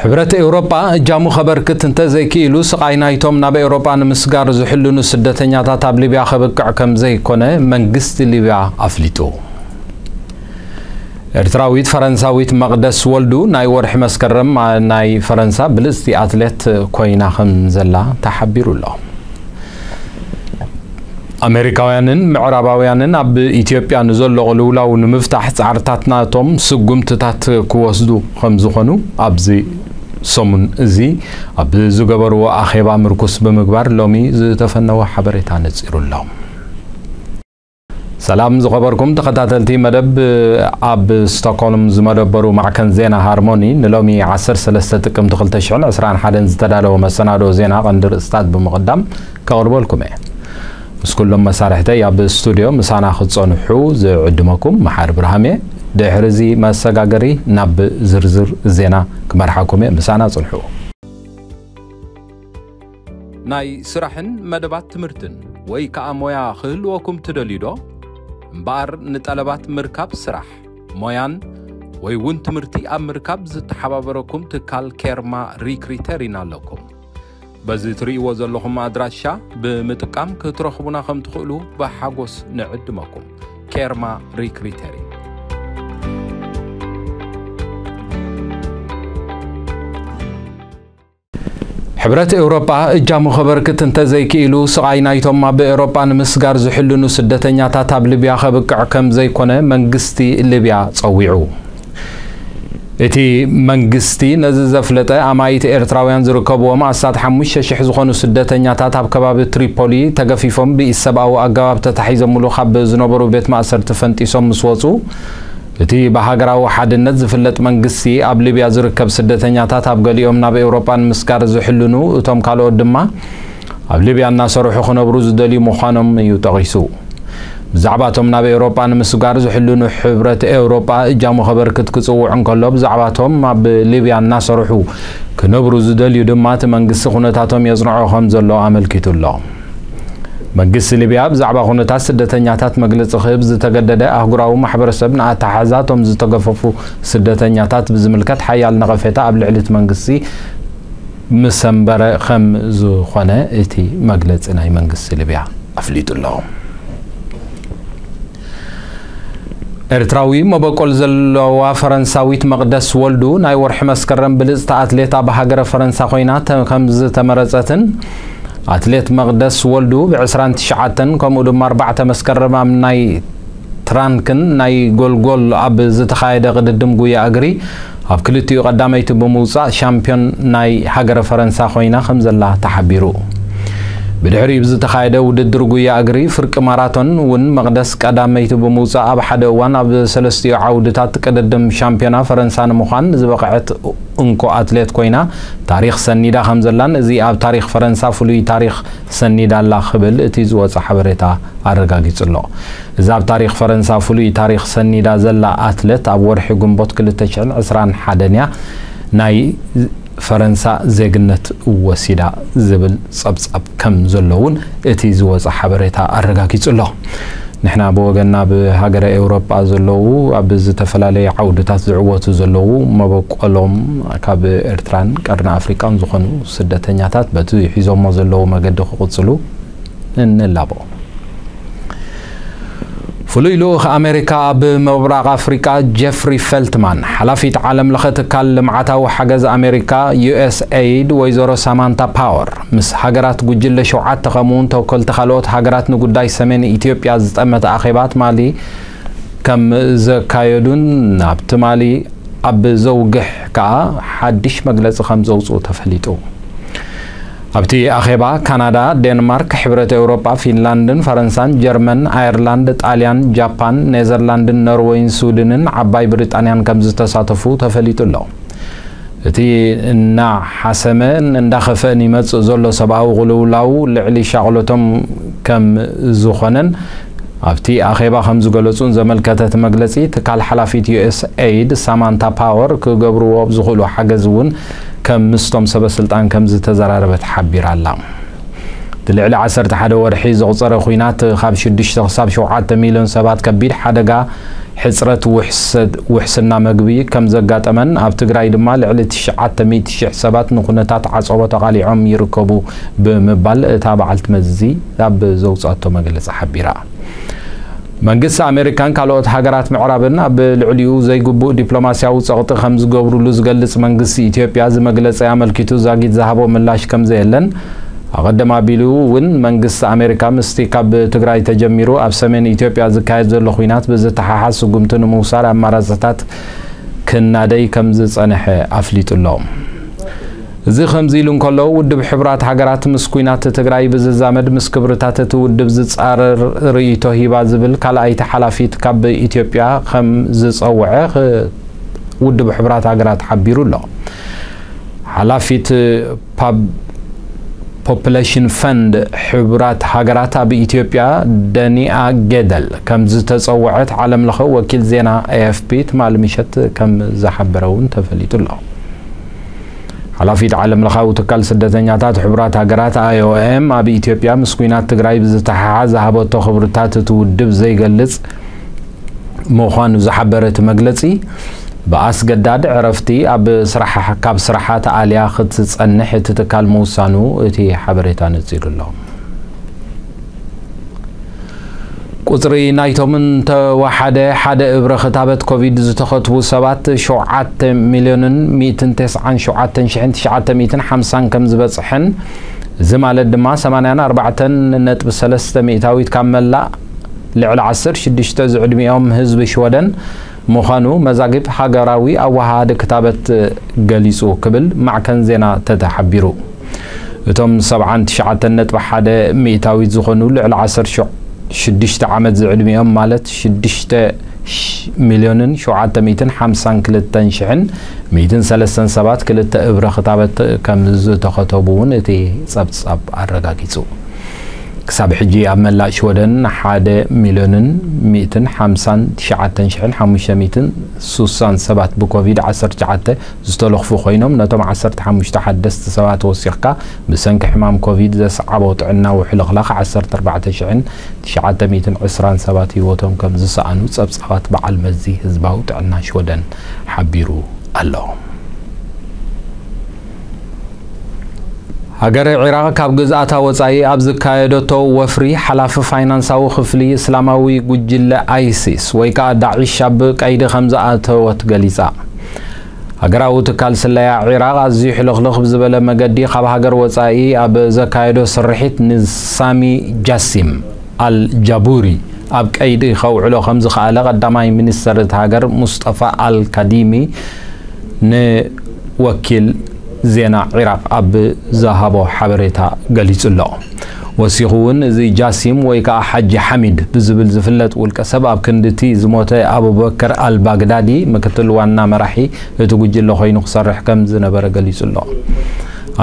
ሕብረት ኤውሮጳ እጃሙ ከበርክት እንተዘይክኢሉ፣ ስቓይ ናይቶም ናብ ኤውሮጳ ንምስጋር ዝሕልኑ ስደተኛታት ኣብ ሊብያ ከብቅዕ ከም ዘይኮነ መንግስቲ ሊብያ ኣፍሊጡ። ኤርትራዊት ፈረንሳዊት መቕደስ ወልዱ ናይ ወርሒ መስከረም ናይ ፈረንሳ ብልጽቲ ኣትሌት ኮይና ከም ዘላ ተሓቢሩ ኣሎ። ኣሜሪካውያንን ምዕራባውያንን ኣብ ኢትዮጵያ ንዘሎ ቅልውላው ንምፍታሕ ጻዕርታት ናቶም ስጉምትታት ክወስዱ ከም ዝኾኑ ኣብዚ ሰሙን እዚ ኣብ ዝገበርዎ ኣኼባ ምርኩስ ብምግባር ሎሚ ዝተፈነወ ሓበሬታ ነጺሩ ኣሎ። ሰላም ዝኸበርኩም ተኸታተልቲ መደብ፣ ኣብ ስቶክሆልም ዝመደበሩ ማዕከን ዜና ሃርሞኒ ንሎሚ ዓሰርተ ሰለስተ ጥቅምቲ ክልተ ሽሕን ዕስራን ሓደን ዝተዳለወ መሰናድኦ ዜና ቀንዲ ርእስታት ብምቕዳም ከቕርበልኩም እየ። ምስ ኩሎም መሳርሕተይ ኣብ ስቱድዮ ምሳና ክትጸንሑ ዝዕድመኩም መሓሪ ብርሃም እየ። ድሕሪ እዚ መሰጋገሪ ናብ ዝርዝር ዜና ክመርሓኩም እየ። ምሳና ጽንሑ። ናይ ስራሕን መደባት ትምህርትን ወይ ከኣ ሞያ ክህልወኩም ትደልዩ ዶ? እምበኣር ንጠለባት ምርካብ ስራሕ፣ ሞያን ወይ እውን ትምህርቲ ኣብ ምርካብ ዝተሓባበረኩም ትካል ኬርማ ሪክሪተሪን ኣለኩም። በዚ ትርእይዎ ዘለኹም ኣድራሻ ብምጥቃም ክትረኽቡና ከም ትኽእሉ ብሓጎስ ንዕድመኩም። ኬርማ ሪክሪተሪን። ሕብረት ኤውሮጳ እጃሙ ከበርክት እንተዘይክኢሉ፣ ስቓይ ናይቶም ኣብ ኤውሮጳ ንምስጋር ዝሕልኑ ስደተኛታት ኣብ ሊብያ ከብቅዕ ከም ዘይኮነ መንግስቲ ሊብያ ጸዊዑ። እቲ መንግስቲ ነዚ ዘፍለጠ፣ ኣማኢት ኤርትራውያን ዝርከብዎም ኣስታት ሓሙሽተ ሽሕ ዝኾኑ ስደተኛታት ኣብ ከባቢ ትሪፖሊ ተገፊፎም ብኢሰብኣዊ ኣገባብ ተታሒዞምሉ ካብ ዝነበሩ ቤት ማእሰርቲ ፈንጢሶም ምስ ወጹ፣ እቲ ብሃገራዊ ሓድነት ዝፍለጥ መንግስቲ ኣብ ሊብያ ዝርከብ ስደተኛታት ኣብ ገሊኦም ናብ ኤውሮጳ ንምስጋር ዝሕልኑ፣ እቶም ካልኦት ድማ ኣብ ሊብያ እናሰርሑ ክነብሩ ዝደልዩ ምዃኖም እዩ ጠቒሱ። ብዛዕባ እቶም ናብ ኤውሮጳ ንምስጋር ዝሕልኑ ሕብረት ኤውሮጳ እጃሙ ከበርክት ክጽውዕ እንከሎ፣ ብዛዕባ እቶም ኣብ ሊብያ እናሰርሑ ክነብሩ ዝደልዩ ድማ እቲ መንግስቲ ኩነታቶም የጽንዖ ከም ዘሎ ኣመልኪቱ ኣሎ። መንግስቲ ሊብያ ብዛዕባ ኩነታት ስደተኛታት መግለጺ ክህብ ዝተገደደ ኣህጉራዊ ማሕበረሰብ ንኣተሓሕዛ እቶም ዝተገፈፉ ስደተኛታት ብዝምልከት ሓያል ነቐፌታ ኣብ ልዕሊ እቲ መንግስቲ ምስ ኣንበረ ከም ዝኾነ እቲ መግለጺ ናይ መንግስቲ ሊብያ ኣፍሊጡ ኣሎ። ኤርትራዊ መበቆል ዘለዋ ፈረንሳዊት መቕደስ ወልዱ ናይ ወርሒ መስከረም ብልጽቲ ኣትሌት ኣብ ሃገረ ፈረንሳ ኮይና ተ-፣ ከም ዝተመረጸትን ኣትሌት መቕደስ ወልዱ ብ ዕስራን ትሽዓተን ከምኡ ድማ ኣርባዕተ መስከረም ኣብ ናይ ትራንክን ናይ ጎልጎል ኣብ ዝተኻየደ ቅድድም ጉያ እግሪ ኣብ ክልቲኡ ቀዳመይቲ ብምውጻእ ሻምፒዮን ናይ ሃገረ ፈረንሳ ኮይና ከም ዘላ ተሓቢሩ። ብድሕሪኡ ብዝተኻየደ ውድድር ጉያ እግሪ ፍርቂ ማራቶን እውን መቕደስ ቀዳመይቲ ብምውጻእ ኣብ ሓደ እዋን ኣብ ሰለስቲኡ ዓውድታት ቅድድም ሻምፒዮና ፈረንሳ ንምዃን ዝበቕዐት እንኮ ኣትሌት ኮይና ታሪኽ ሰኒዳ ከም ዘላን እዚ ኣብ ታሪኽ ፈረንሳ ፍሉይ ታሪኽ ሰኒዳ ኣላ ክብል እቲ ዝወጸ ሓበሬታ ኣረጋጊጹ ኣሎ። እዛ ኣብ ታሪኽ ፈረንሳ ፍሉይ ታሪኽ ሰኒዳ ዘላ ኣትለት ኣብ ወርሒ ግንቦት ክልተ ሽሕን ዕስራን ሓደን እያ ናይ ፈረንሳ ዜግነት ወሲዳ ዝብል ጸብጻብ ከም ዘሎ እውን እቲ ዝወጸ ሓበሬታ ኣረጋጊጹ ኣሎ። ንሕና ብወገንና ኣብ ሃገረ ኤውሮጳ ዘለዉ ኣብ ዝተፈላለየ ዓውድታት ዝዕወቱ ዘለዉ መበቆሎም ካብ ኤርትራን ቀርኒ ኣፍሪቃን ዝኾኑ ስደተኛታት በቲ ሒዞሞ ዘለዉ መገዲ ክቕጽሉ ንላቦ። ፍሉይ ልኡኽ ኣሜሪካ ኣብ ምብራቕ ኣፍሪቃ ጀፍሪ ፈልትማን፣ ሓላፊት ዓለም ለኸ ትካል ልምዓታዊ ሓገዝ ኣሜሪካ ዩ ኤስ ኤይድ ወይዘሮ ሳማንታ ፓወር ምስ ሃገራት ጉጅለ ሸውዓተ ከምኡውን ተወከልቲ ካልኦት ሃገራት ንጉዳይ ሰሜን ኢትዮጵያ ዝጠመተ ኣኼባ ትማሊ ከም ዘካየዱን ኣብ ትማሊ ኣብ ዘውግሕ ከኣ ሓድሽ መግለጺ ከም ዘውጽኡ ተፈሊጡ። ኣብቲ ኣኼባ ካናዳ፣ ዴንማርክ፣ ሕብረት ኤውሮጳ፣ ፊንላንድን ፈረንሳን፣ ጀርመን፣ ኣየርላንድ፣ ጣልያን፣ ጃፓን፣ ኔዘርላንድን ኖርወይን ስዊድንን ዓባይ ብሪጣንያን ከም ዝተሳተፉ ተፈሊጡ ኣሎ። እቲ እናሓሰመን እንዳኸፍአን ይመጽእ ዘሎ ሰብኣዊ ቅልውላው ልዕሊ ሻቕሎቶም ከም ዝኾነን ኣብቲ ኣኼባ ከም ዝገለጹን ዘመልከተ እቲ መግለጺ፣ ትካል ሓላፊት ዩ ኤስ ኤይድ ሳማንታ ፓወር ክገብርዎ ኣብ ዝኽእሉ ሓገዝ እውን ከም ምስቶም ሰበ ስልጣን ከም ዝተዘራረበት ሓቢራ ኣላ። እቲ ልዕሊ ዓሰርተ ሓደ ወርሒ ዘቑጸረ ኲናት ካብ ሽዱሽተ ክሳብ ሸውዓተ ሚልዮን ሰባት ከቢድ ሓደጋ ሕጽረት ውሕሰ-፣ ውሕስና መግቢ ከም ዘጋጠመን ኣብ ትግራይ ድማ ልዕሊ ትሽዓተ ሚእቲ ሽሕ ሰባት ንኩነታት ዓጸቦ ተቓሊዖም ይርከቡ ብምባል እታ በዓልቲ መዚ ኣብ ዘውጽኣቶ መግለጺ ሓቢራ። መንግስቲ ኣሜሪካን ካልኦት ሃገራት ምዕራብን ኣብ ልዕሊኡ ዘይግቡእ ዲፕሎማስያዊ ጸቕጢ ከም ዝገብሩሉ ዝገልጽ መንግስቲ ኢትዮጵያ እዚ መግለጺ ኣመልኪቱ ዛጊት ዝሃቦ ምላሽ ከም ዘየለን ኣቐድም ኣቢሉ እውን መንግስቲ ኣሜሪካ ምስቲ ካብ ትግራይ ተጀሚሩ ኣብ ሰሜን ኢትዮጵያ ዝካየድ ዘሎ ኲናት ብዝተሓሓዝ ስጉምቲ ንምውሳድ ኣማራጽታት ክናደይ ከም ዝጸንሐ ኣፍሊጡ ኣሎ። እዚ ከምዚ ኢሉ እንከሎ ውድብ ሕቡራት ሃገራት ምስ ኲናት ትግራይ ብዝዛመድ ምስ ክብርታት እቲ ውድብ ዝጻረር ርእይቶ ሂባ ዝብል ካልኣይቲ ሓላፊት ካብ ኢትዮጵያ ከም ዝጸውዐ ኽ-፣ ውድብ ሕቡራት ሃገራት ሓቢሩ ኣሎ። ሓላፊት ፓብ-፣ ፖፕሌሽን ፈንድ ሕቡራት ሃገራት ኣብ ኢትዮጵያ ደኒኣ ጌደል ከም ዝተጸውዐት ዓለምለኸ ወኪል ዜና ኤ ኤፍ ፒ ትማሊ ምሸት ከም ዝሓበረ እውን ተፈሊጡ ኣሎ። ሓላፊት ዓለምለኻዊ ትካል ስደተኛታት ሕቡራት ሃገራት ኣይ ኦ ኤም ኣብ ኢትዮጵያ ምስ ኲናት ትግራይ ብዝተሓሓዝ ዝሃበቶ ክብርታት እቲ ውድብ ዘይገልጽ ምዃኑ ዝሓበረ እቲ መግለጺ፣ ብኣስገዳድ ዕረፍቲ ኣብ ስራሕ፣ ካብ ስራሓ ተኣልያ ክትጸንሕ እቲ ትካል ምውሳኑ እቲ ሓበሬታ ነጺሩ ኣሎ። ቁጽሪ ናይቶም እንተወሓደ ሓደ እብረ ክታበት ኮቪድ ዝተኸትቡ ሰባት ሸውዓተ ሚልዮንን ሚእትን ተስዓን ሸውዓተን ሽሕን ትሽዓተ ሚእትን ሓምሳን ከም ዝበጽሐን፣ እዚ ማለት ድማ ሰማንያን ኣርባዕተን ነጥቢ ሰለስተ ሚእታዊት ካብ መላእ ልዕሊ ዓሰርተ ሽዱሽተ ዝዕድሚኦም ህዝቢ ሽወደን ምዃኑ መዛግብ ሃገራዊ ኣወሃሃዲ ክታበት ገሊጹ ክብል ማዕከን ዜና ተተ ሓቢሩ። እቶም ሰብዓን ትሽዓተን ነጥቢ ሓደ ሚእታዊት ዝኾኑ ልዕሊ ዓሰርተ ሽዱሽተ ዓመት ዝዕድሚኦም ማለት ሽዱሽተ ሚልዮንን ሸውዓተ ሚእትን ሓምሳን ክልተን ሽሕን ሚእትን ሰለስተን ሰባት ክልተ እብረ ክታበት ከም ዝተኸተቡ እውን እቲ ጸብጻብ ኣረጋጊጹ። ክሳብ ሕጂ ኣብ መላእ ሽወደን ሓደ ሚልዮንን ሚእትን ሓምሳን ትሽዓተን ሽሕን ሓሙሽተ ሚእትን ሱሳን ሰባት ብኮቪድ ዓሰርተ ትሽዓተ ዝተለኽፉ ኮይኖም፣ ነቶም ዓሰርተ ሓሙሽተ ሓደስቲ ሰባት ወሲኽካ ብሰንኪ ሕማም ኮቪድ ዘስዓቦ ጥዕናዊ ሕልኽላኽ ዓሰርተ ኣርባዕተ ሽሕን ትሽዓተ ሚእትን ዕስራን ሰባት ህይወቶም ከም ዝሰኣኑ ጸብጻባት በዓል መዚ ህዝባዊ ጥዕና ሽወደን ሓቢሩ ኣሎ። ሃገረ ዒራቕ ካብ ግዝኣታ ወጻኢ ኣብ ዝካየደቶ ወፍሪ፣ ሓላፊ ፋይናንሳዊ ክፍሊ እስላማዊ ጉጅለ ኣይሲስ ወይ ከኣ ዳዒሽ ኣብ ቀይዲ ከም ዝኣተወት ገሊጻ። ሃገራዊ ትካል ስለያ ዒራቕ ኣዝዩ ሕልኽልኽ ብዝበለ መገዲ ካብ ሃገር ወጻኢ ኣብ ዘካየዶ ስርሒት ንሳሚ ጃሲም ኣል ጃቡሪ ኣብ ቀይዲ ከውዕሎ ከም ዝኸኣለ ቀዳማይ ሚኒስተር እታ ሃገር ሙስጠፋ ኣል ካዲሚ ንወኪል ዜና ዒራቕ ኣብ ዝሃቦ ሓበሬታ ገሊጹ ኣሎ። ወሲኹ እውን እዚ ጃሲም ወይ ከኣ ሓጂ ሓሚድ ብዝብል ዝፍለጥ ውልቀ ሰብ ኣብ ክንዲ እቲ ዝሞተ ኣቡበከር ኣልባግዳዲ ምክትል ዋና መራሒ እቲ ጉጅለ ኮይኑ ክሰርሕ ከም ዝነበረ ገሊጹ ኣሎ።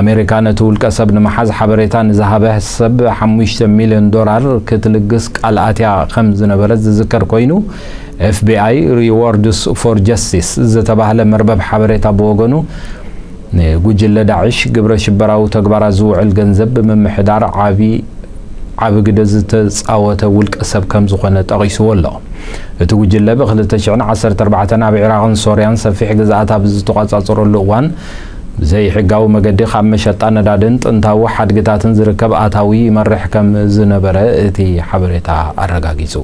ኣሜሪካ ነቲ ውልቀ ሰብ ንምሓዝ ሓበሬታ ንዝሃበ ሰብ ሓሙሽተ ሚልዮን ዶላር ክትልግስ ቃል ኣትያ ከም ዝነበረት ዝዝከር ኮይኑ፣ ኤፍ ቢ ኣይ ሪዎርድስ ፎር ጀስቲስ ዝተባህለ መርበብ ሓበሬታ ብወገኑ፣ ንጉጅለ ዳዕሽ ግብረ ሽበራዊ ተግባራት ዝውዕል ገንዘብ ብምምሕዳር ዓቢ ዓቢ ግደ ዝተጻወተ ውልቀ ሰብ ከም ዝኾነ ጠቒስዎ ኣሎ። እቲ ጉጅለ ብ ክልተ ሽሕን ዓሰርተ ኣርባዕተን ኣብ ዒራቕን ሶርያን ሰፊሕ ግዝኣት ኣብ ዝተቖጻጸረሉ እዋን፣ ብዘይሕጋዊ መገዲ ካብ መሸጣ ነዳድን ጥንታዊ ሓድግታትን ዝርከብ ኣታዊ ይመርሕ ከም ዝነበረ እቲ ሓበሬታ ኣረጋጊጹ።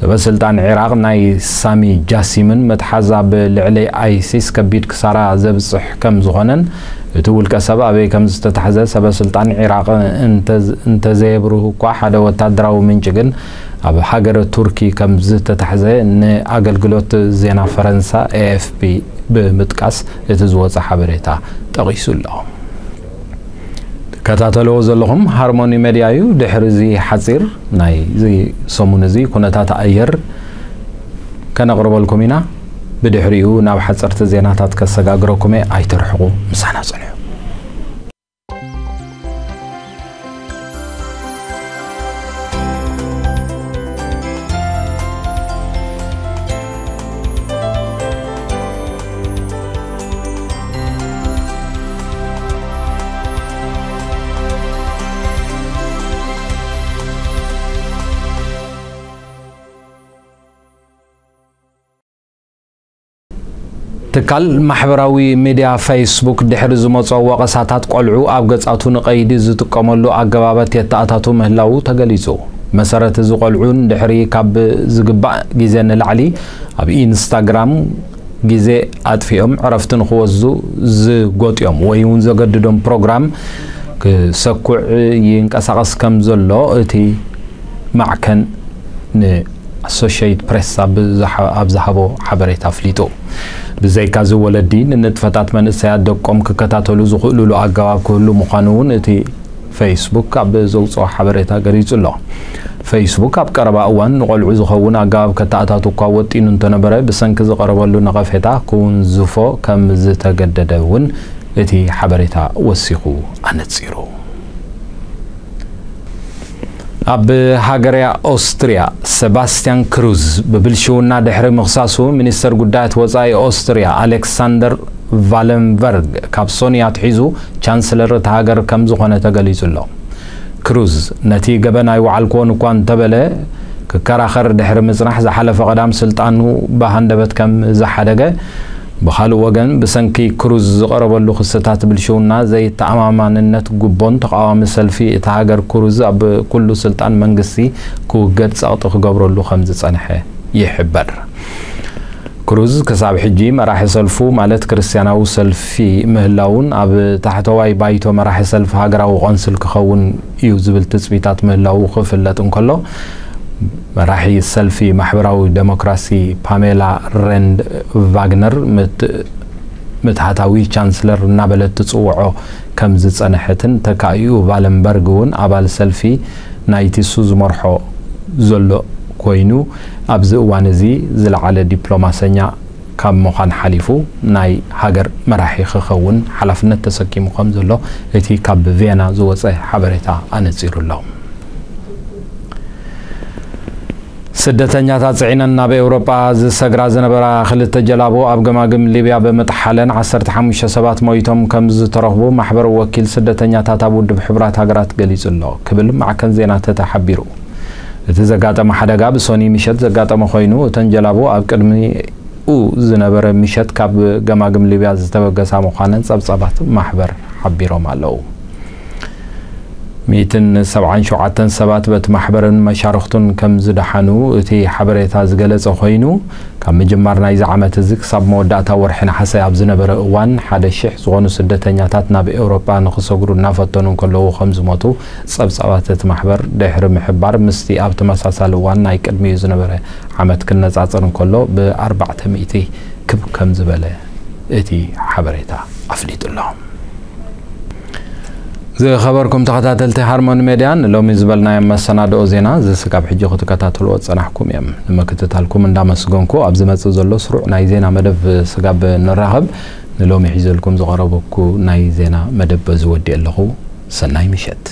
ሰበ ስልጣን ዒራቕ ናይ ሳሚ ጃሲምን መትሓዝ ኣብ ልዕሊ ኣይሲስ ከቢድ ክሳራ ዘብጽሕ ከም ዝኾነን፣ እቲ ውልቀ ሰብ ኣበይ ከም ዝተታሕዘ ሰበ ስልጣን ዒራቕ እንተ-፣ እንተዘየብርሁ እኳ፣ ሓደ ወታደራዊ ምንጪ ግን ኣብ ሃገረ ቱርኪ ከም ዝተታሕዘ ንኣገልግሎት ዜና ፈረንሳ ኤ ኤፍ ፒ ብምጥቃስ እቲ ዝወጸ ሓበሬታ ጠቒሱ ኣሎ። ትከታተልዎ ዘለኹም ሃርሞኒ ሜድያ እዩ። ድሕሪ እዚ ሓጺር ናይ እዚ ሰሙን እዚ ኩነታት ኣየር ከነቕርበልኩም ኢና። ብድሕሪኡ ናብ ሓጸርቲ ዜናታት ከሰጋግረኩም እየ። ኣይትርሕቑ፣ ምሳና ጽንሑ። ትካል ማሕበራዊ ሚድያ ፌስቡክ ድሕሪ ዝመጾ ወቐሳታት፣ ቆልዑ ኣብ ገጻቱ ንቐይዲ ዝጥቀመሉ ኣገባባት የተኣታቱ ምህላዉ ተገሊጹ። መሰረት እዚ፣ ቆልዑ ድሕሪ ካብ ዝግባእ ግዜ ንላዕሊ ኣብ ኢንስታግራም ግዜ ኣጥፊኦም ዕረፍቲ ንኽወስዱ ዝጎጥዮም ወይ እውን ዘገድዶም ፕሮግራም ክሰኩዕ ይንቀሳቐስ ከም ዘሎ እቲ ማዕከን ንኣሶሽየትድ ፕሬስ ኣብ ዝሃ-፣ ኣብ ዝሃቦ ሓበሬታ ኣፍሊጡ። ብዘይካዚ፣ ወለዲ ንንጥፈታት መንእሰያት ደቆም ክከታተሉ ዝኽእሉሉ ኣገባብ ክህሉ ምዃኑ እውን እቲ ፌስቡክ ኣብ ዘውፅኦ ሓበሬታ ገሊጹ ኣሎ። ፌስቡክ ኣብ ቀረባ እዋን ንቆልዑ ዝኸውን ኣገባብ ከተኣታቱ እኳ ወጢኑ እንተነበረ፣ ብሰንኪ ዝቐረበሉ ነቐፌታ ክውንዝፎ ከም ዝተገደደ እውን እቲ ሓበሬታ ወሲኹ ኣነጺሩ። ኣብ ሃገረ ኦስትርያ፣ ሰባስቲያን ክሩዝ ብብልሽውና ድሕሪ ምኽሳሱ፣ ሚኒስተር ጉዳያት ወጻኢ ኦስትርያ ኣሌክሳንደር ቫለንበርግ ካብ ሶኒ ኣትሒዙ ቻንስለር እታ ሃገር ከም ዝኾነ ተገሊጹ ኣሎ። ክሩዝ ነቲ ገበን ኣይወዓልክዎን እኳ እንተበለ፣ ክከራኸር ድሕሪ ምጽናሕ፣ ዝሓለፈ ቀዳም ስልጣኑ ብሃንደበት ከም ዝሓደገ፣ ብኻልእ ወገን፣ ብሰንኪ ክሩዝ ዝቐረበሉ ክስታት ብልሽውና፣ ዘይተኣማማንነት ጉቦን ተቓዋሚ ሰልፊ እታ ሃገር፣ ክሩዝ ኣብ ኩሉ ስልጣን መንግስቲ ክውገድ ጸቕጢ ክገብረሉ ከም ዝጸንሐ ይሕበር። ክሩዝ ክሳብ ሕጂ መራሒ ሰልፉ፣ ማለት ክርስትያናዊ ሰልፊ ምህላውን ኣብ ታሕተዋይ ባይቶ መራሒ ሰልፊ ሃገራዊ ቆንስል ክኸውን እዩ ዝብል ትጽቢታት ምህላዉ ክፍለጥ እንከሎ፣ መራሒ ሰልፊ ማሕበራዊ ዴሞክራሲ ፓሜላ ረንድ ቫግነር ምት-፣ ምትሃታዊ ቻንስለር እናበለት ትጽውዖ ከም ዝጸንሐትን፣ ተካኢኡ ቫለንበርግ እውን ኣባል ሰልፊ ናይቲ እሱ ዝመርሖ ዘሎ ኮይኑ፣ ኣብዚ እዋን እዚ ዝለዓለ ዲፕሎማሰኛ ካብ ምዃን ሓሊፉ፣ ናይ ሃገር መራሒ ክኸውን ሓላፍነት ተሰኪሙ ከም ዘሎ እቲ ካብ ቪየና ዝወጸ ሓበሬታ ኣነጺሩ ኣሎ። ስደተኛታት ጽዒነን ናብ ኤውሮጳ ዝሰግራ ዝነበራ ክልተ ጀላቡ ኣብ ገማግም ሊብያ ብምጥሓለን ዓሰርተ ሓሙሽተ ሰባት ሞይቶም ከም ዝተረኽቡ ማሕበር ወኪል ስደተኛታት ኣብ ውድብ ሕቡራት ሃገራት ገሊጹ ኣሎ ክብል ማዕከን ዜና ተተ ሓቢሩ። እቲ ዘጋጠመ ሓደጋ ብሶኒ ምሸት ዘጋጠመ ኮይኑ፣ እተን ጀላቡ ኣብ ቅድሚኡ ዝነበረ ምሸት ካብ ገማግም ሊብያ ዝተበገሳ ምዃነን ጸብጻባት ማሕበር ሓቢሮም ኣለዉ። ሚእትን ሰብዓን ሸውዓተን ሰባት በቲ ማሕበርን መሻርኽቱን ከም ዝደሓኑ እቲ ሓበሬታ ዝገለጸ ኮይኑ፣ ካብ ምጅማር ናይዚ ዓመት እዚ ክሳብ መወዳእታ ወርሒ ነሓሰ ኣብ ዝነበረ እዋን፣ ሓደ ሽሕ ዝኾኑ ስደተኛታት ናብ ኤውሮጳ ንኽሰግሩ እናፈተኑ እንከለዉ ከም ዝሞቱ ጸብጻባት እቲ ማሕበር ድሕሪ ምሕባር፣ ምስቲ ኣብ ተመሳሳሊ እዋን ናይ ቅድሚኡ ዝነበረ ዓመት ክነጻጸር እንከሎ፣ ብኣርባዕተ ሚእቲ ክብ ከም ዝበለ እቲ ሓበሬታ ኣፍሊጡ ኣሎ። ዝኸበርኩም ተኸታተልቲ ሃርሞኒ ሜድያ፣ ንሎሚ ዝበልናዮም መሰናድኦ ዜና፣ እዚ ስጋብ ሕጂ ክትከታተልዎ ዝጸናሕኩም እዮም። ንምክትታልኩም እንዳመስገንኩ፣ ኣብ ዝመጽእ ዘሎ ስሩዕ ናይ ዜና መደብ ስጋብ ንራኸብ፣ ንሎሚ ሒዘልኩም ዝቐረበኩ ናይ ዜና መደብ በዚ ወዲኤ ኣለኹ። ሰናይ ምሸት።